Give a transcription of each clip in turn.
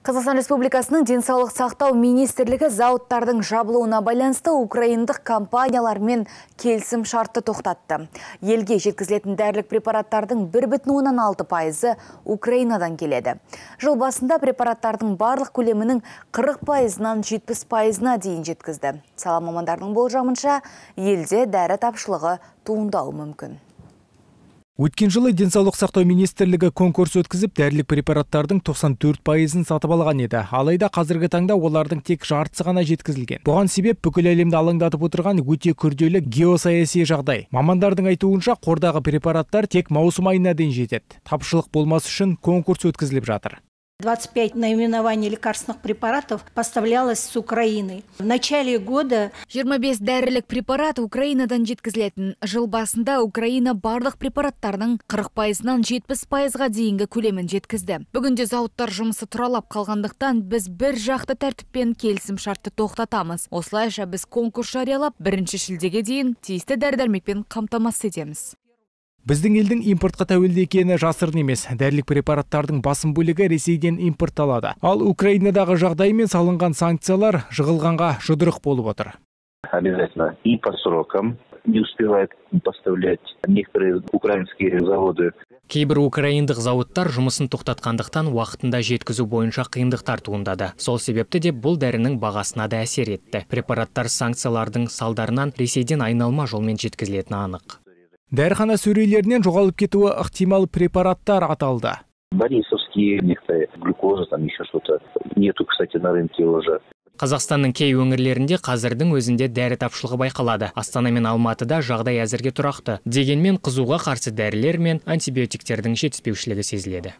Қазақстан Республикасының денсаулық сақтау министрлігі зауыттардың жабылуына байланысты украиндық компаниялармен келісім шартты тоқтатты. Елге жеткізілетін дәрілік препараттардың 1,6% Украинадан келеді. Жыл басында препараттардың барлық көлемінің 40%-нан 70%-на дейін жеткізді. Сала мамандарының болжамынша, елде дәрі тапшылығы туындауы мүмкін. Өткен жылы денсаулық сақтау министрлігі конкурс өткізіп, дәрілік препараттардың 94%-ын сатып алған еді. Алайда қазіргі таңда олардың тек жартысы ғана жеткізілген. Бұған себеп бүкіл әлемді алаңдатып отырған өте күрделі геосаяси жағдай. Мамандардың айтуынша, қордағы препараттар тек маусым айына дейін жетеді. Тапшылық болмас үшін конкурс өткізіліп жатыр. 25 наименований лекарственных препаратов поставлялось с Украины. В начале года 25 дәрілік препарат Украинадан жеткізілетін. Жыл басында Украина барлық препараттардың 40%-нан 70%-ға дейінгі көлемін жеткізді. Бүгінде зауыттар жұмысы тұралап қалғандықтан біз бір жақты тәртіппен келісім шартты тоқтатамыз. Осылайша біз конкурс жариялап, 1 шілдеге дейін тиісті дәрі-дәрмекпен қамтамасыз етеміз. Біздің елдің импортқа тәуелді екені жасырын емес. Дәрілік препараттардың басым бөлігі Ресейден импортталады. Ал Украинадағы жағдаймен салынған санкциялар жығылғанға жұдырық болып отыр. Обязательно и по срокам не успевают поставлять некоторые украинские заводы. Кейбір украиндық зауыттар жұмысын тоқтатқандықтан уақытында жеткізу бойынша қиындықтар туындады. Сол себепті де бұл дәрінің бағасына да әсер етті. Препараттар санкциялардың салдарынан Ресейден айналма жолмен жеткізілетіні анық. Дәріхана сөрелерінен жоғалып кетуі ықтимал препараттар аталды. Борисовские, некоторые глюкоза, там еще что-то. Нету, кстати, на рынке уже. Қазақстанның кей өңірлерінде қазірдің өзінде дәрі тапшылығы байқалады. Астана мен Алматыда жағдай әзірге тұрақты. Дегенмен қызуға қарсы дәрілер мен антибиотиктердің жетіспеушілігі сезіледі.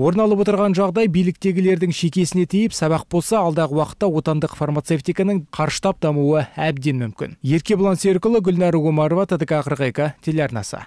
Орын алып отырған жағдай биліктегілердің шекесіне тиіп, сабақ болса, алдағы уақытта отандық фармацевтиканың қарыштап дамуы әбден мүмкін. Еркебұлан Серікұлы, Гүлнар Угумарова, ТДК 42 телеарнасы.